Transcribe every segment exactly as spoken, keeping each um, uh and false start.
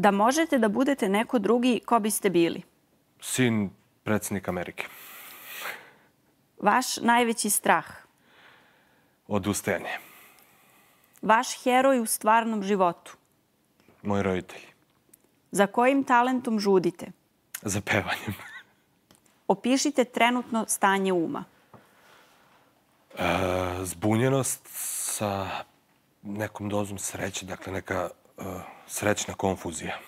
Da možete da budete neko drugi, ko biste bili? Sin predsjednika Amerike. Vaš najveći strah? Odustajanje. Vaš heroj u stvarnom životu? Moji roditelji. Za kojim talentom žudite? Za pevanjem. Opišite trenutno stanje uma. E, zbunjenost sa nekom dozom sreće, dakle neka e, srećna konfuzija.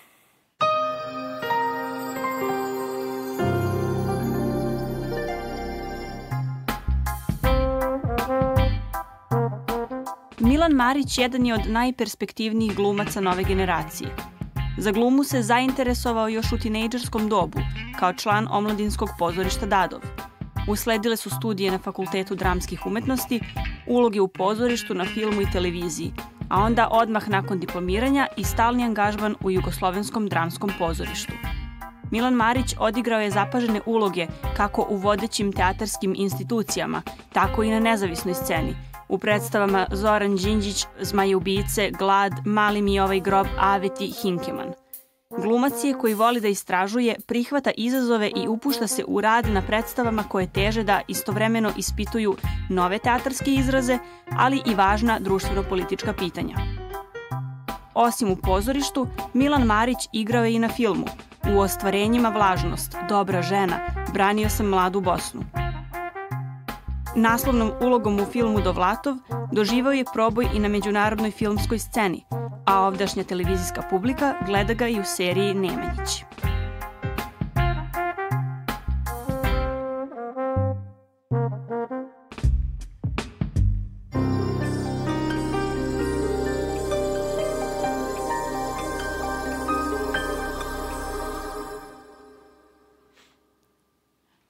Milan Marić jedan je od najperspektivnijih glumaca nove generacije. Za glumu se zainteresovao još u tinejdžerskom dobu, kao član omladinskog pozorišta Dadov. Usledile su studije na Fakultetu dramskih umetnosti, uloge u pozorištu, na filmu i televiziji, a onda odmah nakon diplomiranja i stalni angažman u Jugoslovenskom dramskom pozorištu. Milan Marić odigrao je zapažene uloge kako u vodećim teatarskim institucijama, tako i na nezavisnoj sceni, u predstavama Zoran Đinđić, Zmajeubice, Glad, Mali mi ovaj grob, Aveti, Hinkeman. Glumac je koji voli da istražuje, prihvata izazove i upušta se u rad na predstavama koje teže da istovremeno ispituju nove teatarske izraze, ali i važna društveno-politička pitanja. Osim u pozorištu, Milan Marić igrao je i na filmu, u ostvarenjima Vlažnost, Dobra žena, Branio sam mladu Bosnu. Naslovnom ulogom u filmu Dovlatov doživao je proboj i na međunarodnoj filmskoj sceni, a ovdašnja televizijska publika gleda ga i u seriji Nemanjić.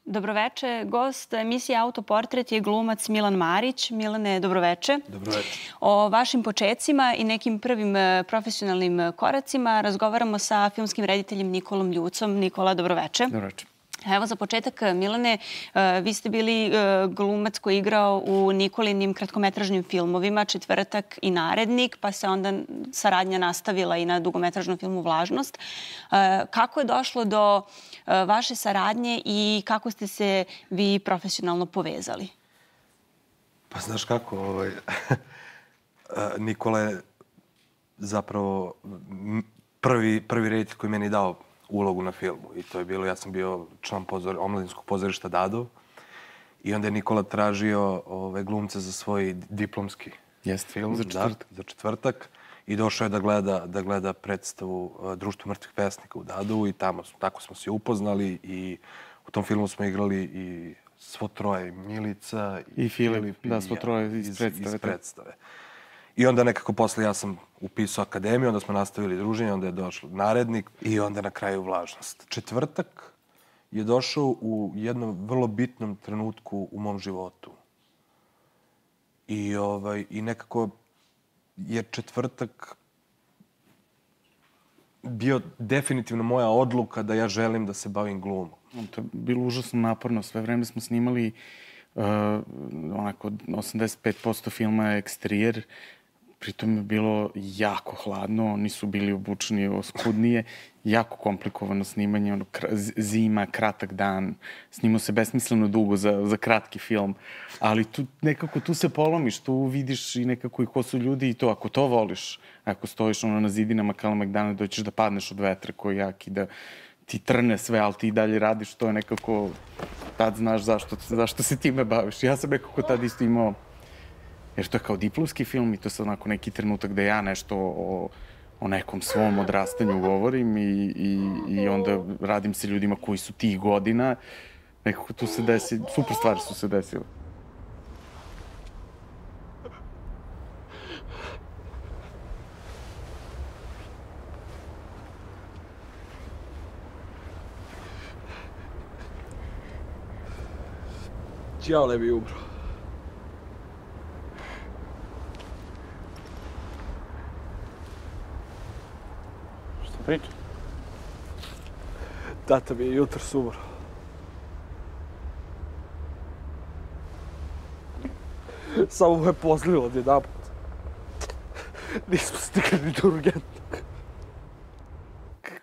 Dobroveče, gost emisije Autoportret je glumac Milan Marić. Milane, dobroveče. Dobroveče. O vašim počecima i nekim prvim profesionalnim koracima razgovaramo sa filmskim rediteljem Nikolom Ljucom. Nikola, dobroveče. Dobroveče. Evo za početak, Milane, vi ste bili glumac koji je igrao u Nikolinim kratkometražnim filmovima Četvrtak i Narednik, pa se onda saradnja nastavila i na dugometražnom filmu Vlažnost. Kako je došlo do vaše saradnje i kako ste se vi profesionalno povezali? Pa znaš kako, ovaj, Nikola je zapravo prvi, prvi reditelj koji meni dao ulogu na filmu. I to je bilo, ja sam bio član pozor, omladinskog pozorišta Dadov i onda je Nikola tražio ove, glumce za svoj diplomski Jest, film. za četvrtak. Da, za četvrtak. I došao je da gleda, da gleda predstavu uh, Društvo mrtvih pesnika u Dadovu i tamo, tako smo se upoznali i u tom filmu smo igrali i svo troje, Milica i, i Filip, Filip da, svo troje iz, iz predstave. Iz predstave. I onda nekako posle ja sam upisao akademiju, onda smo nastavili druženje, onda je došao Narednik i onda na kraju Vlažnost. Četvrtak je došao u jednom vrlo bitnom trenutku u mom životu. I, ovaj, i nekako je Četvrtak bio definitivno moja odluka da ja želim da se bavim glumom. To je bilo užasno naporno. Sve vreme smo snimali uh, onako osamdeset pet posto filma je eksterijer. Pritom je bilo jako hladno, oni su bili obučeni oskudnije, jako komplikovano snimanje, ono, zima, kratak dan, snimao se besmisleno dugo za, za kratki film, ali tu nekako tu se polomiš, tu vidiš i nekako i ko su ljudi i to, ako to voliš, ako stojiš ono na zidinama Kalemegdana, doćeš da padneš od vetra koji je jak i da ti trne sve, ali ti dalje radiš, to je nekako, tad znaš zašto, zašto se time baviš. Ja sam nekako tad isto imao, jer to je kao diplomski film i to je sad onako neki trenutak da ja nešto o, o nekom svom odrastanju govorim i, i, i onda radim se ljudima koji su tih godina. Nekako tu se desi, super stvari su se desile. Ja ne bi umro. Šta priča? Tata mi je jutros umro. Samo me pozlilo odjedanput. Nismo stigli ni do urgentnog.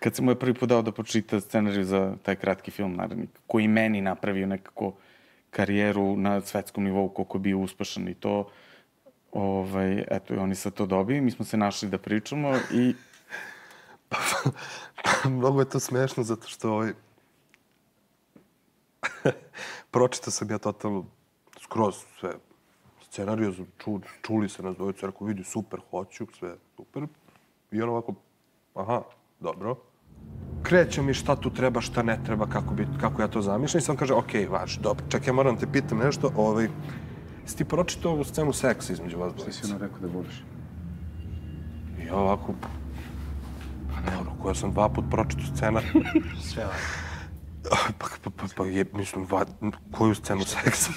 kad sam mu je prvi put dao da počita scenariju za taj kratki film Narednik, koji meni napravio nekako karijeru na svetskom nivou, koliko je bio uspešan i to, ovaj, eto, i oni sad to dobiju. Mi smo se našli da pričamo i... Mnogo je to smešno zato što ovaj... pročitao sam ja totalno skroz sve scenariju, ču, čuli se nas dvojica, rekao, vidi, super, hoću, sve super. I on ovako, aha, dobro. Kreće mi šta tu treba, šta ne treba, kako, bi, kako ja to zamišljam. I sam kaže, okej, važi, dobro, čekaj, ja moram te pitam nešto. Ovaj, si ti pročitao ovu scenu seksa između vas dvojica? Šta si ono rekao da voliš? I ja ovako, pa ne, ono, koja sam dva put pročitao scena. Sve vas. Pa, pa, pa, pa je, mislim, va, koju scenu seksa?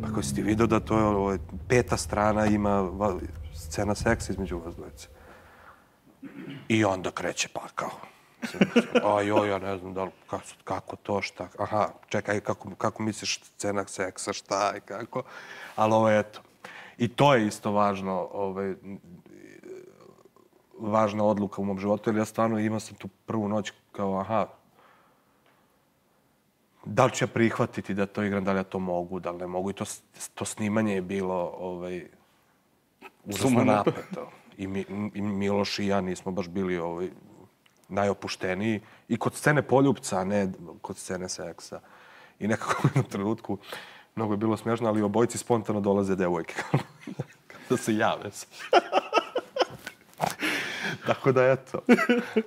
Pa koji si ti vidio da to je ovo, peta strana ima va, scena seksa između vas dvojice. I onda kreće pa kao. A joj, ja ne znam da li, kako, kako to, šta, aha, čekaj, kako, kako misliš scena seksa, šta i kako. Ali ovo, eto. I to je isto važno, ovaj, važna odluka u mom životu, jer ja stvarno imao sam tu prvu noć kao, aha, da li ću ja prihvatiti da to igram, da li ja to mogu, da li ne mogu. I to, to snimanje je bilo ovaj, užasno napeto. I, mi, I Miloš i ja nismo baš bili ovaj, najopušteniji. I kod scene poljupca, a ne kod scene seksa. I nekako u jednom trenutku, mnogo je bilo smiješno, ali obojici spontano dolaze devojke. Kada se jave. Tako da, eto.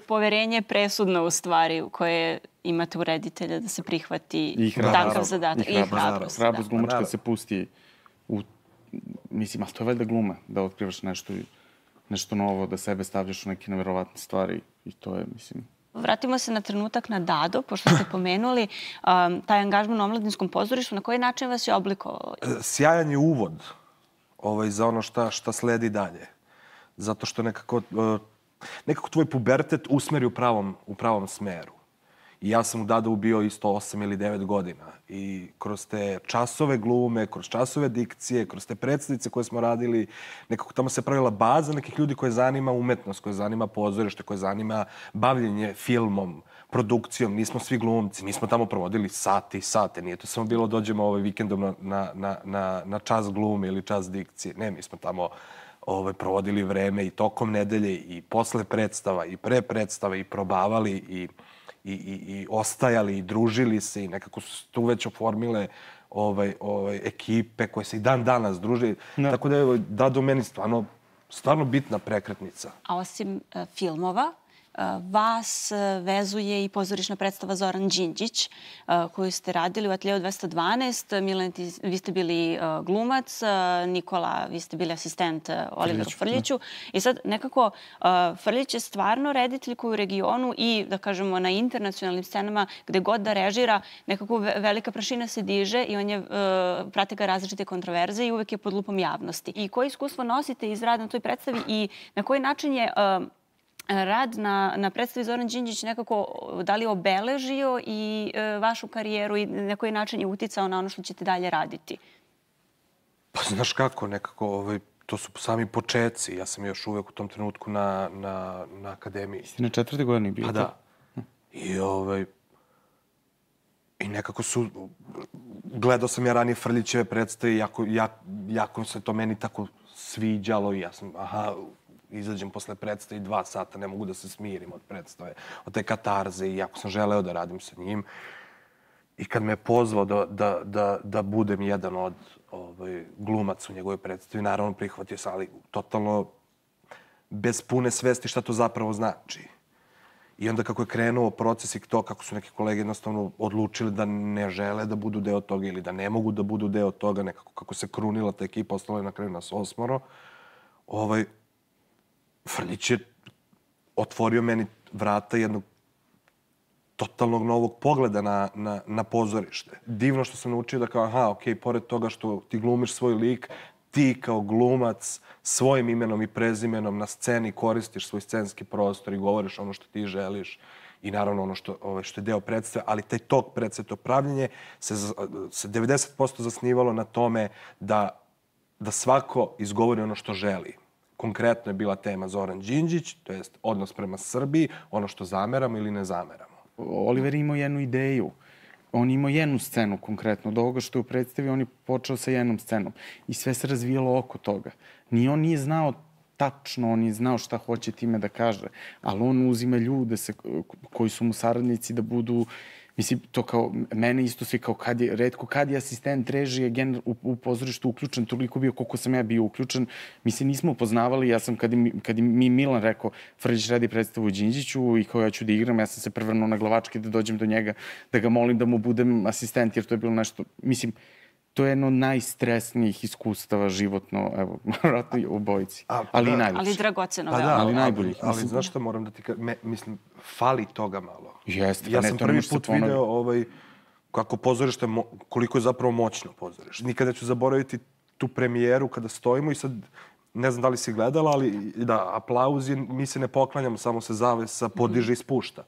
Poverenje je presudno u stvari koje imate u reditelja da se prihvati takav zadatak. I hrabrost. Hrabrost glumačka da se pusti u... Mislim, ali to je valjda gluma, da otkrivaš nešto, nešto novo, da sebe stavljaš u neke neverovatne stvari i to je, mislim... Vratimo se na trenutak na Dado, pošto ste pomenuli um, taj angažman u omladinskom pozorištu. Na koji način vas je oblikovao? Sjajan je uvod ovaj, za ono šta, šta sledi dalje. Zato što nekako, nekako tvoj pubertet usmeri u pravom, u pravom smeru. I ja sam u Dadovu bio isto osam ili devet godina. I kroz te časove glume, kroz časove dikcije, kroz te predstavice koje smo radili, nekako tamo se pravila baza nekih ljudi koje zanima umetnost, koje zanima pozorište, koje zanima bavljenje filmom, produkcijom. Nismo svi glumci. Mi smo tamo provodili sate i sate. Nije to samo bilo dođemo ovaj vikendom na, na, na, na, na čas glume ili čas dikcije. Ne, mi smo tamo ovaj, provodili vreme i tokom nedelje i posle predstava i pre predstava i probavali i, i, i, i ostajali i družili se i nekako su tu već oformile ovaj, ovaj, ekipe koje se i dan danas druže. No. Tako da je Dado meni stvarno, stvarno bitna prekretnica. A osim uh, filmova, vas vezuje i pozorišna predstava Zoran Đinđić, koju ste radili u Ateljeu dvesta dvanaest. Milan, vi ste bili glumac, Nikola, vi ste bili asistent Oliveru Frljiću. I sad nekako Frljić je stvarno reditelj koji u regionu i, da kažemo, na internacionalnim scenama, gde god da režira, nekako velika prašina se diže i on je, prate ga različite kontroverze i uvek je pod lupom javnosti. I koje iskustvo nosite iz rada na toj predstavi i na koji način je rad na, na predstavi Zoran Đinđić nekako da li obeležio i e, vašu karijeru i na koji način je uticao na ono što ćete dalje raditi? Pa znaš kako, nekako, ovaj, to su sami početci. Ja sam još uvek u tom trenutku na, na, na akademiji. Ste na četvrte godini bio? Pa da. I, ovaj, I nekako su... Gledao sam ja ranije Frljićeve predstave i jako, jako, jako se to meni tako sviđalo i ja sam, aha, izađem posle predstave i dva sata, ne mogu da se smirim od predstave, od te katarze i jako sam želeo da radim sa njim. I kad me je pozvao da, da, da, da budem jedan od ovaj, glumaca u njegovoj predstavi, naravno prihvatio sam, ali totalno bez pune svesti šta to zapravo znači. I onda kako je krenuo proces i to, kako su neki kolege jednostavno odlučili da ne žele da budu deo toga ili da ne mogu da budu deo toga, nekako kako se krunila ta ekipa, ostalo je na kraju nas osmoro, ovaj, Frljić je otvorio meni vrata jednog totalnog novog pogleda na, na, na pozorište. Divno što sam naučio da kao, aha, okej, okay, pored toga što ti glumiš svoj lik, ti kao glumac svojim imenom i prezimenom na sceni koristiš svoj scenski prostor i govoriš ono što ti želiš i naravno ono što, ovaj, što je deo predstave, ali taj tok predstave, to pravljenje se, se devedeset posto zasnivalo na tome da, da svako izgovori ono što želi. konkretno je bila tema Zoran Đinđić, to jest odnos prema Srbiji, ono što zameramo ili ne zameramo. Oliver imao jednu ideju. On imao jednu scenu konkretno. Od ovoga što je predstavio, on je počeo sa jednom scenom. I sve se razvijalo oko toga. Ni on nije znao tačno, on je znao šta hoće time da kaže. Ali on uzima ljude se, koji su mu saradnici da budu... Mislim, to kao, mene isto svi kao kad je, redko kad je asistent režije gener, u, u pozorištu uključen, toliko bio koliko sam ja bio uključen. Mi se nismo upoznavali, ja sam, kad, im, kad im mi Milan rekao, Frljić radi predstavu u Đinđiću i kao ja ću da igram, ja sam se prevrnuo na glavačke da dođem do njega, da ga molim da mu budem asistent, jer to je bilo nešto, mislim, to je jedno od najstresnijih iskustava životno, evo, vratno i u bojici. A, ali da, i najlepše. Ali dragoceno. Pa da, ali ali, najboljih. ali, ali znaš što moram da ti kažem? Mislim, fali toga malo. Jeste, ja ne, sam to ne prvi može se put ponoviti. video ovaj, kako pozorište, mo, koliko je zapravo moćno pozorište. Nikada ću zaboraviti tu premijeru kada stojimo i sad, ne znam da li si gledala, ali da, aplauz je, mi se ne poklanjamo, samo se zavesa podiže i spušta.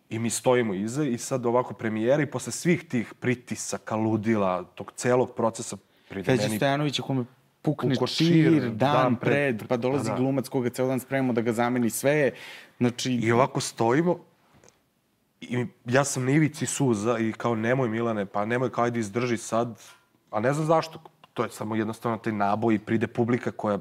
I mi stojimo iza i sad ovako premijera i posle svih tih pritisaka, ludila, tog celog procesa pride Feđa meni... Stojanović je kome pukne Pukao čir, čir, dan, dan pred, pred, pa dolazi da, da. glumac koga ceo dan spremamo da ga zameni sve je, znači... I ovako stojimo i ja sam na ivici suza i kao nemoj Milane, pa nemoj, kao ajde izdrži sad. A ne znam zašto, to je samo jednostavno taj naboj i pride publika koja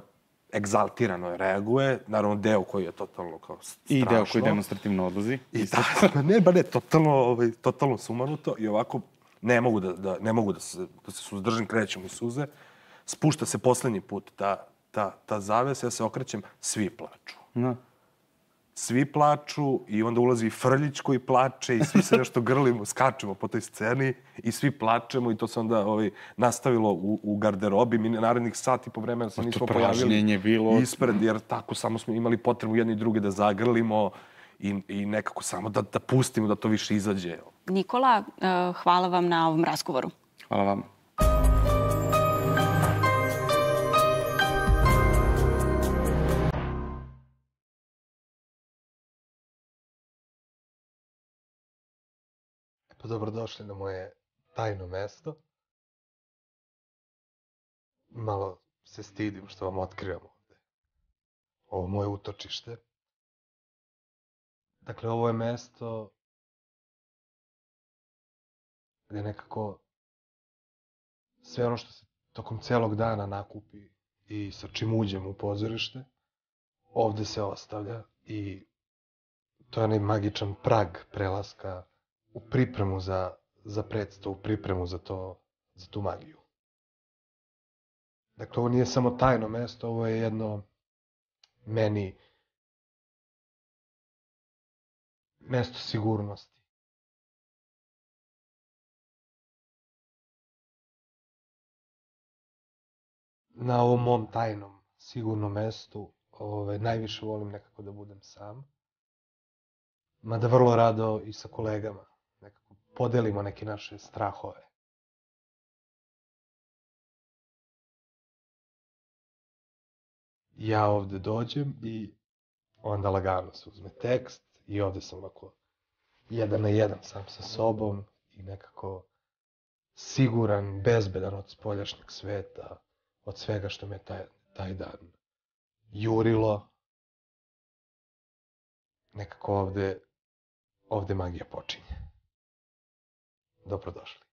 egzaltirano reaguje, naravno deo koji je totalno kao strašno. I deo koji demonstrativno odlazi. I da, ne, ba ne, totalno, ovaj, totalno sumanuto i ovako ne mogu da, da, ne mogu da se, da se suzdržim, krećem u suze. Spušta se poslednji put ta, ta, ta zavesa, ja se okrećem, svi plaču. Da. Svi plaču i onda ulazi i Frljić koji plače i svi se nešto grlimo, skačemo po toj sceni i svi plačemo i to se onda ovaj, nastavilo u, u garderobi. Mi narednih sat i po vremena se nismo pojavili bilo... ispred, jer tako samo smo imali potrebu jedni i drugi da zagrlimo i, i nekako samo da, da pustimo da to više izađe. Nikola, uh, hvala vam na ovom razgovoru. Hvala vam. Pa dobrodošli na moje tajno mesto. Malo se stidim što vam otkrivam ovde. Ovo moje utočište. Dakle, ovo je mesto gde nekako sve ono što se tokom celog dana nakupi i sa čim uđem u pozorište, ovde se ostavlja i to je onaj magičan prag prelaska u pripremu za, za predstavu, u pripremu za, to, za tu magiju. Dakle, ovo nije samo tajno mesto, ovo je jedno meni mesto sigurnosti. Na ovom mom tajnom, sigurnom mestu ove, najviše volim nekako da budem sam. Mada vrlo rado i sa kolegama. Nekako podelimo neke naše strahove. Ja ovde dođem i onda lagano se uzme tekst i ovde sam ovako jedan na jedan sam sa sobom i nekako siguran, bezbedan od spoljašnjeg sveta, od svega što me taj, taj dan jurilo. Nekako ovde, ovde magija počinje. Dobrodošli.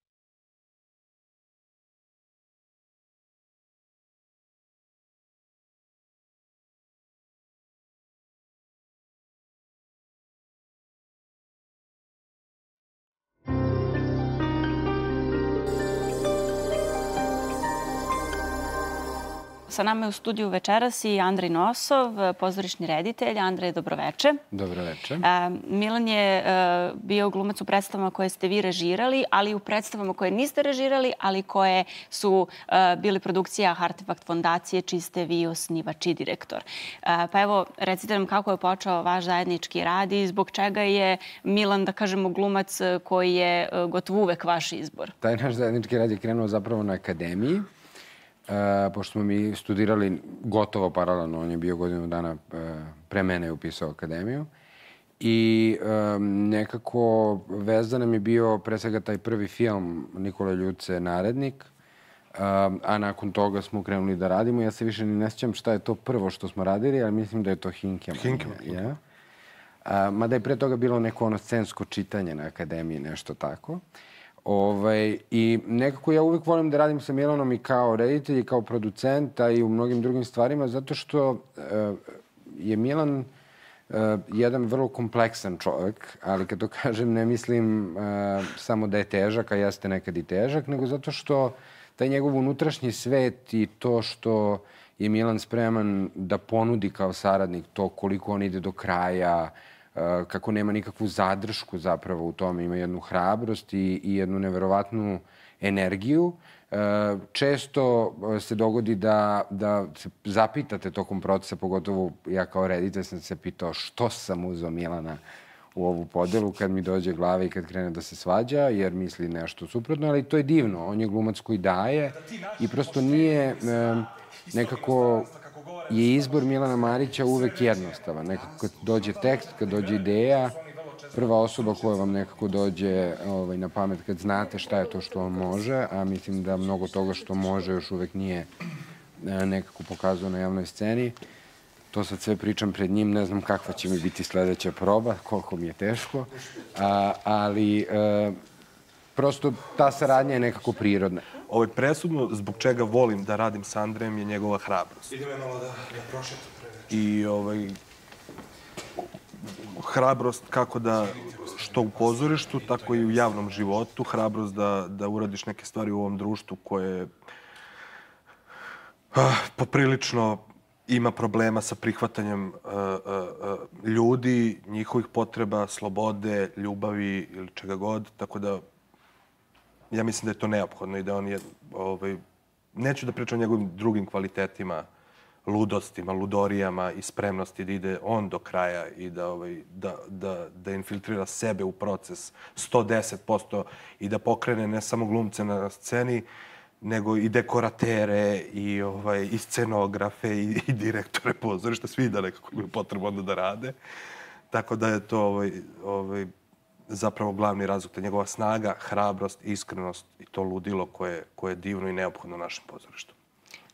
Sa nama je u studiju večeras i Andrej Nosov, pozorišni reditelj. Andrej, dobroveče. Dobroveče. Milan je bio glumac u predstavama koje ste vi režirali, ali i u predstavama koje niste režirali, ali koje su bili produkcija Artefakt fondacije, čiji ste vi osnivač i direktor. Pa evo, recite nam kako je počeo vaš zajednički rad i zbog čega je Milan, da kažemo, glumac koji je gotovo uvek vaš izbor. Taj naš zajednički rad je krenuo zapravo na akademiji. Uh, pošto smo mi studirali gotovo paralelno, on je bio godinu dana uh, pre mene upisao akademiju. I um, nekako vezan nam je bio pre svega taj prvi film Nikole Ljuce, Narednik. a nakon toga smo krenuli da radimo. Ja se više ni ne sjećam šta je to prvo što smo radili, ali mislim da je to Hinkemann. Hinkemann. Ja? A, mada je pre toga bilo neko ono scensko čitanje na akademiji, nešto tako. Ovaj, I nekako ja uvijek volim da radim sa Milanom i kao reditelj i kao producent, a i u mnogim drugim stvarima, zato što uh, je Milan uh, jedan vrlo kompleksan čovjek, ali kad to kažem ne mislim uh, samo da je težak, a jeste nekad i težak, nego zato što taj njegov unutrašnji svet i to što je Milan spreman da ponudi kao saradnik, to koliko on ide do kraja, kako nema nikakvu zadršku zapravo u tome, ima jednu hrabrost i, i jednu neverovatnu energiju. Često se dogodi da, da se zapitate tokom procesa, pogotovo ja kao reditelj sam se pitao što sam uzeo Milana u ovu podelu kad mi dođe glava i kad krene da se svađa, jer misli nešto suprotno, ali to je divno. On je glumac koji daje i prosto nije nekako je izbor Milana Marića uvek jednostavan. Nekako kad dođe tekst, kad dođe ideja, prva osoba koja vam nekako dođe ovaj, na pamet kad znate šta je to što on može, a mislim da mnogo toga što može još uvek nije nekako pokazao na javnoj sceni. To sad sve pričam pred njim, ne znam kakva će mi biti sledeća proba, koliko mi je teško, a, ali e, prosto ta saradnja je nekako prirodna. Ovo je presudno zbog čega volim da radim sa Andrejem je njegova hrabrost. Idemo je malo da, da prošetam pre. I ovaj, hrabrost kako da, što u pozorištu, tako i u javnom životu, hrabrost da, da uradiš neke stvari u ovom društvu koje ah, poprilično ima problema sa prihvatanjem uh, uh, ljudi, njihovih potreba, slobode, ljubavi ili čega god. Tako da ja mislim da je to neophodno i da on je, ovaj, neću da pričam o njegovim drugim kvalitetima, ludostima, ludorijama i spremnosti da ide on do kraja i da, ovaj, da, da, da infiltrira sebe u proces sto deset posto i da pokrene ne samo glumce na sceni, nego i dekoratere, i, ovaj, i scenografe, i, i direktore pozorišta, svi da nekako imaju potrebu onda da rade. Tako da je to ovaj, ovaj, zapravo glavni razlog, to je njegova snaga, hrabrost, iskrenost i to ludilo koje, koje je divno i neophodno u našem pozorištu.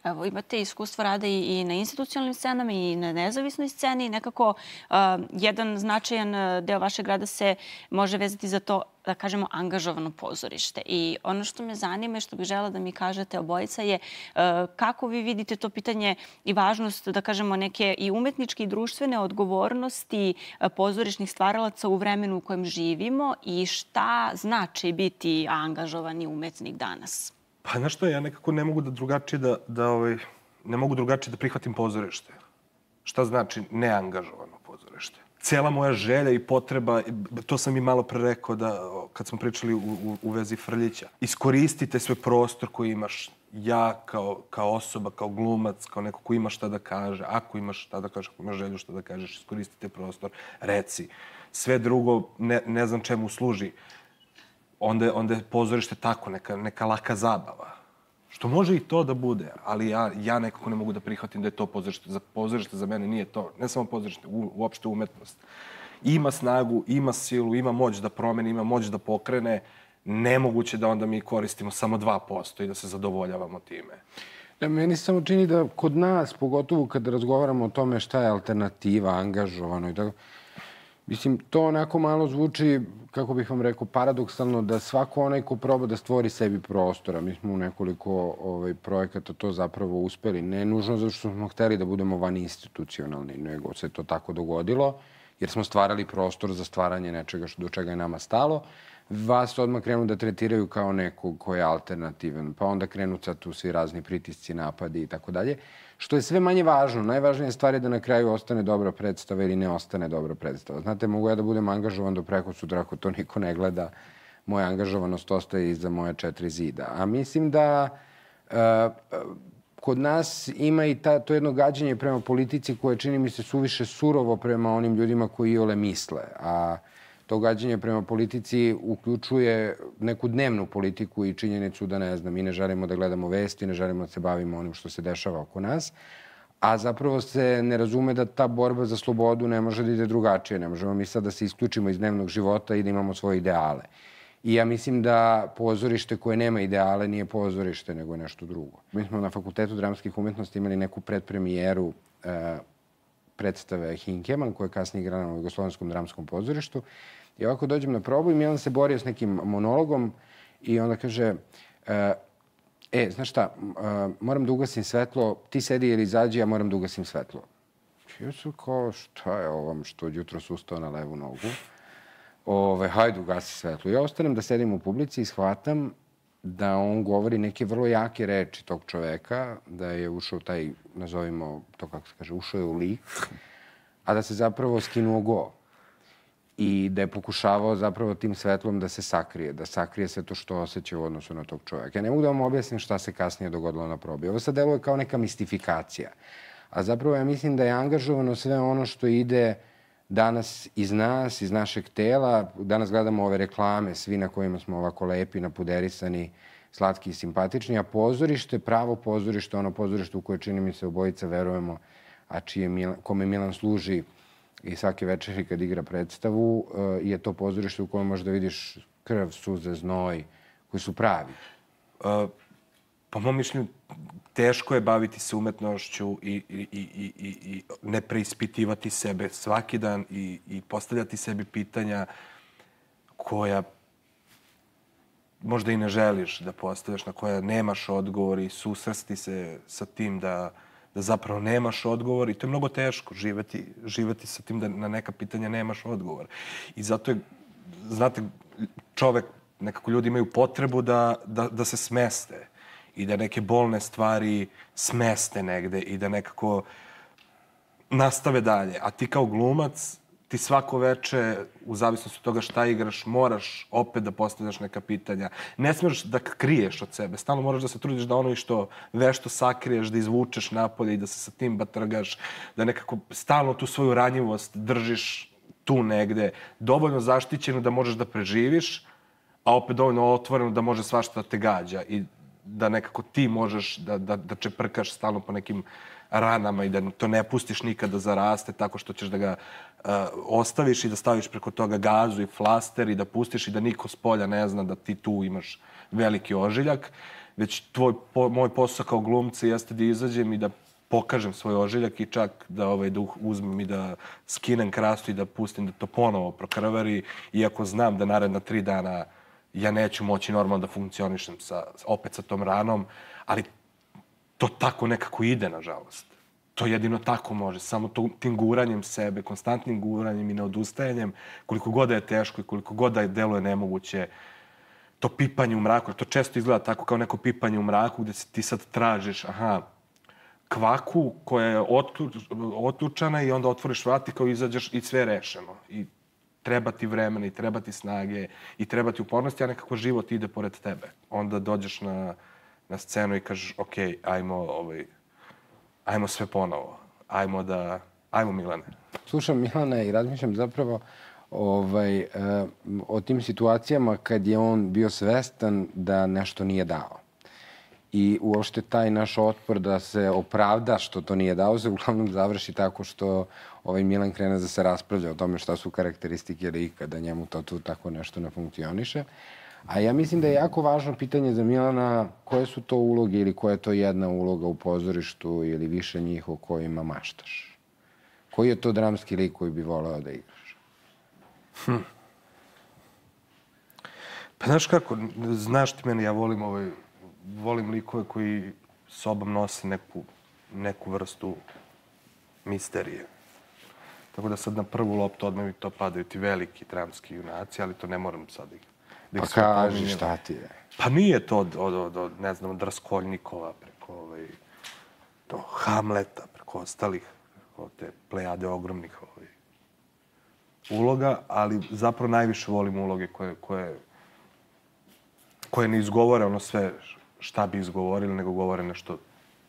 Evo, imate iskustva rada i na institucionalnim scenama i na nezavisnoj sceni. Nekako uh, jedan značajan deo vašeg rada se može vezati za to, da kažemo, angažovano pozorište. I ono što me zanima i što bih želela da mi kažete obojica je uh, kako vi vidite to pitanje i važnost, da kažemo, neke i umetničke i društvene odgovornosti uh, pozorišnih stvaralaca u vremenu u kojem živimo i šta znači biti angažovani umetnik danas? Pa znaš što, ja nekako ne mogu da drugačije da, da ovaj, ne mogu drugačije da prihvatim pozorište. Šta znači neangažovano pozorište? Cijela moja želja i potreba, to sam i malo pre rekao da, kad smo pričali u, u, u vezi Frljića. Iskoristite sve prostor koji imaš, ja kao, kao osoba, kao glumac, kao neko ko ima šta da kaže. Ako imaš šta da kažeš, ako imaš želju šta da kažeš, iskoristite prostor, reci. Sve drugo ne, ne znam čemu služi. Onda, onda je pozorište tako, neka, neka laka zabava. Što može i to da bude, ali ja, ja nekako ne mogu da prihvatim da je to pozorište. Za pozorište za mene nije to. Ne samo pozorište, u, uopšte umetnost. Ima snagu, ima silu, ima moć da promeni, ima moć da pokrene. Nemoguće da onda mi koristimo samo dva posto i da se zadovoljavamo time. Da, meni se samo čini da kod nas, pogotovo kada razgovaramo o tome šta je alternativa, angažovano i tako, mislim, to onako malo zvuči, kako bih vam rekao, paradoksalno da svako onaj ko proba da stvori sebi prostora. Mi smo u nekoliko ovaj, projekata to zapravo uspeli. Ne nužno zato što smo hteli da budemo van institucionalni, nego se to tako dogodilo, jer smo stvarali prostor za stvaranje nečega što, do čega je nama stalo. Vas odmah krenu da tretiraju kao nekog ko je alternativan, pa onda krenu sad tu svi razni pritisci, napadi i tako dalje. Što je sve manje važno. Najvažnija stvar je da na kraju ostane dobra predstava ili ne ostane dobra predstava. Znate, mogu ja da budem angažovan do preko sutra, ako to niko ne gleda, moja angažovanost ostaje iza moje četiri zida. A mislim da uh, kod nas ima i ta, to jedno gađenje prema politici koje čini mi se suviše surovo prema onim ljudima koji iole misle. A to gađenje prema politici uključuje neku dnevnu politiku i činjenicu da, ne znam, mi ne želimo da gledamo vesti, ne želimo da se bavimo onim što se dešava oko nas, a zapravo se ne razume da ta borba za slobodu ne može da ide drugačije. Ne možemo mi sad da se isključimo iz dnevnog života i da imamo svoje ideale. I ja mislim da pozorište koje nema ideale nije pozorište, nego nešto drugo. Mi smo na Fakultetu dramskih umetnosti imali neku predpremijeru e, predstave Hinkeman, koja je kasnije igrana na Jugoslovenskom dramskom pozorištu. I ovako dođem na probu i Milan se borio s nekim monologom i onda kaže e, e znaš šta, e, moram da ugasim svetlo, ti sedi ili izađi, ja moram da ugasim svetlo. Ja sam kao, šta je ovom što jutro su ustao na levu nogu? Ove, hajde, ugasi svetlo. Ja ostanem da sedim u publici i shvatam da on govori neke vrlo jake reči tog čoveka, da je ušao taj, nazovimo to kako se kaže, ušao je u lik, a da se zapravo skinuo go. I da je pokušavao zapravo tim svetlom da se sakrije, da sakrije sve to što osjeća u odnosu na tog čoveka. Ja ne mogu da vam objasnim šta se kasnije dogodilo na probi. Ovo sad deluje kao neka mistifikacija. A zapravo ja mislim da je angažovano sve ono što ide danas iz nas, iz našeg tela. Danas gledamo ove reklame, svi na kojima smo ovako lepi, napuderisani, slatki i simpatični, a pozorište, pravo pozorište, ono pozorište u koje čini mi se obojica verujemo, a čije Milan, kome Milan služi i svake večeri kad igra predstavu, je to pozorište u kojem možeš da vidiš krv, suze, znoj, koji su pravi. Uh, po mom mišljenju, teško je baviti se umetnošću i, i, i, i, i ne preispitivati sebe svaki dan i, i postavljati sebi pitanja koja možda i ne želiš da postavljaš, na koja nemaš odgovor i susresti se sa tim da, da zapravo nemaš odgovor. I to je mnogo teško, živeti, živeti sa tim da na neka pitanja nemaš odgovor. I zato je, znate, čovek, nekako ljudi imaju potrebu da, da, da se smeste i da neke bolne stvari smeste negde i da nekako nastave dalje. A ti kao glumac, ti svako veče, u zavisnosti od toga šta igraš, moraš opet da postavljaš neka pitanja. Ne smiješ da kriješ od sebe. Stalno moraš da se trudiš da ono i što vešto sakriješ, da izvučeš napolje i da se sa tim batrgaš, da nekako stalno tu svoju ranjivost držiš tu negde, dovoljno zaštićeno da možeš da preživiš, a opet dovoljno otvoreno da može svašta da te gađa i da nekako ti možeš da, da, da čeprkaš stalno po nekim ranama i da to ne pustiš nikada da zaraste tako što ćeš da ga uh, ostaviš i da staviš preko toga gazu i flaster i da pustiš i da niko s polja ne zna da ti tu imaš veliki ožiljak. Već tvoj, po, moj posao kao glumca jeste da izađem i da pokažem svoj ožiljak i čak da, ovaj, da uzmem i da skinem krastu i da pustim da to ponovo prokrvari, iako znam da naredna tri dana ja neću moći normalno da funkcionišem sa, opet sa tom ranom, ali to tako nekako ide, nažalost. To jedino tako može. Samo to, tim guranjem sebe, konstantnim guranjem i neodustajanjem, koliko god da je teško i koliko god da je deluje nemoguće, to pipanje u mraku, to često izgleda tako kao neko pipanje u mraku gde ti sad tražiš, aha, kvaku koja je otključana i onda otvoriš vrat i kao izađeš i sve je rešeno. I treba ti vremena i treba ti snage i treba ti upornosti, a nekako život ide pored tebe. Onda dođeš na, na scenu i kažeš, ok, ajmo, ovaj, ajmo sve ponovo. Ajmo da, ajmo Milane. Slušam Milana i razmišljam zapravo ovaj, e, o tim situacijama kad je on bio svestan da nešto nije dao. I uopšte taj naš otpor da se opravda što to nije dao se uglavnom završi tako što ovaj Milan krene da se raspravlja o tome šta su karakteristike lika, da njemu to tu tako nešto ne funkcioniše. A ja mislim da je jako važno pitanje za Milana koje su to uloge ili koja je to jedna uloga u pozorištu ili više njih o kojima maštaš. Koji je to dramski lik koji bi voleo da igraš? Hm. Pa znaš kako, znaš ti mene, ja volim ovaj volim likove koji sobom nose neku, neku vrstu misterije. Tako da sad na prvu loptu odmah mi to padaju ti veliki dramski junaci, ali to ne moram sad da ih Pa kaži šta ti je. Pa nije to od, od, od, od ne znam, od Raskolnikova preko ovaj, do Hamleta, preko ostalih, preko te plejade ogromnih ovaj, uloga, ali zapravo najviše volim uloge koje, koje, koje ne izgovore ono sve šta bi izgovorili, nego govore nešto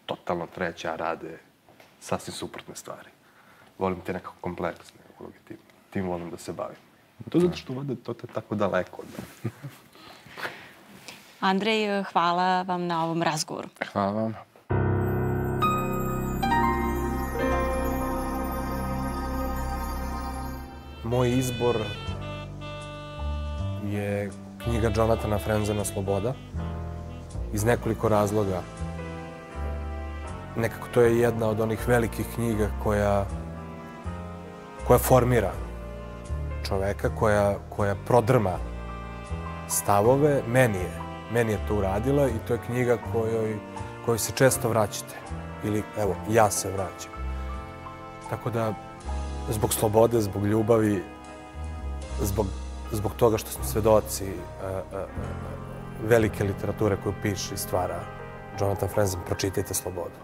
totalno treće, a rade sasvim suprotne stvari. Volim te nekako kompleksne uloge, tim, tim volim da se bavim. To zato što vode to te tako daleko od mene. Andrej, hvala vam na ovom razgovoru. Hvala vam. Moj izbor je knjiga Jonathana Frenzena Sloboda. Iz nekoliko razloga. Nekako to je jedna od onih velikih knjiga koja, koja formira čoveka, koja, koja prodrma stavove. Meni je, meni je to uradila i to je knjiga kojoj, kojoj se često vraćate. Ili, evo, ja se vraćam. Tako da, zbog slobode, zbog ljubavi, zbog, zbog toga što smo svedoci a, a, a, velike literature koju piše i stvara Jonathan Franzen, pročitajte Slobodu.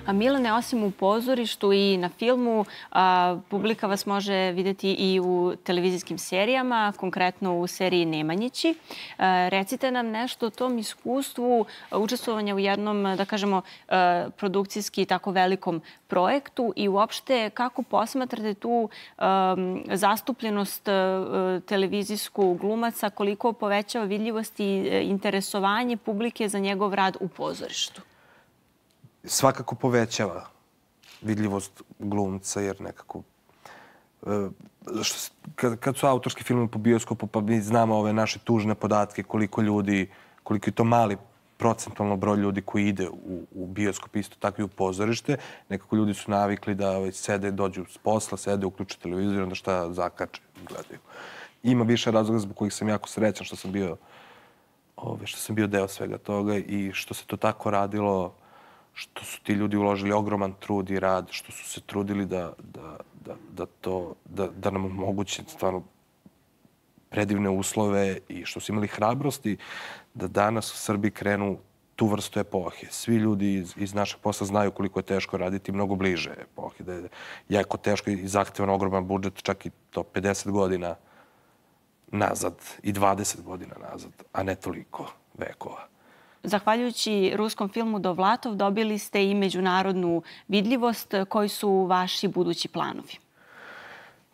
A Milane, osim u pozorištu i na filmu, a, publika vas može vidjeti i u televizijskim serijama, konkretno u seriji Nemanjići. A, recite nam nešto o tom iskustvu učestvovanja u jednom, da kažemo, a, produkcijski tako velikom projektu i uopšte kako posmatrate tu a, zastupljenost a, televizijsku glumaca, koliko povećava vidljivost i interesovanje publike za njegov rad u pozorištu? Svakako povećava vidljivost glumca, jer nekako... Što, kad, kad su autorski filmovi po bioskopu, pa mi znamo ove naše tužne podatke, koliko ljudi, koliko je to mali procentualno broj ljudi koji ide u, u bioskop, isto tako i u pozorište. Nekako ljudi su navikli da ovaj, sede, dođu s posla, sede, uključe televizor, onda šta zakače, gledaju. Ima više razloga zbog kojih sam jako srećan što sam bio, ove, što sam bio deo svega toga i što se to tako radilo, što su ti ljudi uložili ogroman trud i rad, što su se trudili da, da, da, da, to, da, da nam omoguće stvarno predivne uslove i što su imali hrabrosti da danas u Srbiji krenu tu vrstu epohe. Svi ljudi iz, iz našeg posla znaju koliko je teško raditi mnogo bliže epohe. Da je jako teško i zahtevan ogroman budžet, čak i to pedeset godina nazad i dvadeset godina nazad, a ne toliko vekova. Zahvaljujući ruskom filmu Dovlatov dobili ste i međunarodnu vidljivost. Koji su vaši budući planovi?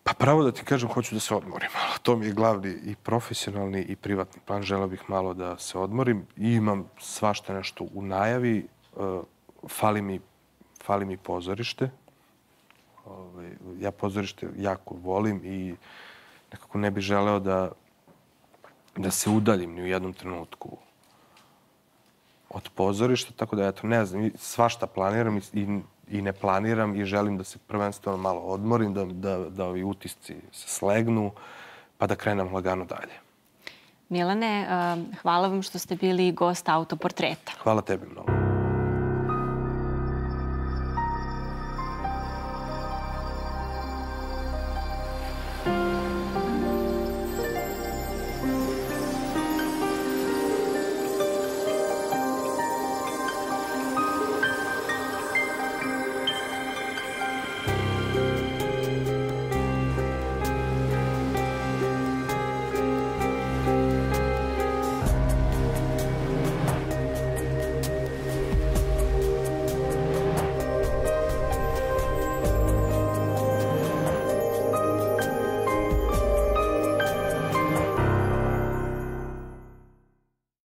Pa pravo da ti kažem, hoću da se odmorim. To mi je glavni i profesionalni i privatni plan. Želeo bih malo da se odmorim. I imam svašta nešto u najavi. Fali mi, fali mi pozorište. Ja pozorište jako volim i nekako ne bih želeo da, da se udaljim ni u jednom trenutku od pozorišta, tako da, eto, ne znam, svašta planiram i, i ne planiram i želim da se prvenstveno malo odmorim, da, da, da ovi utisci se slegnu, pa da krenem lagano dalje. Milane, hvala vam što ste bili gost Autoportreta. Hvala tebi mnogo.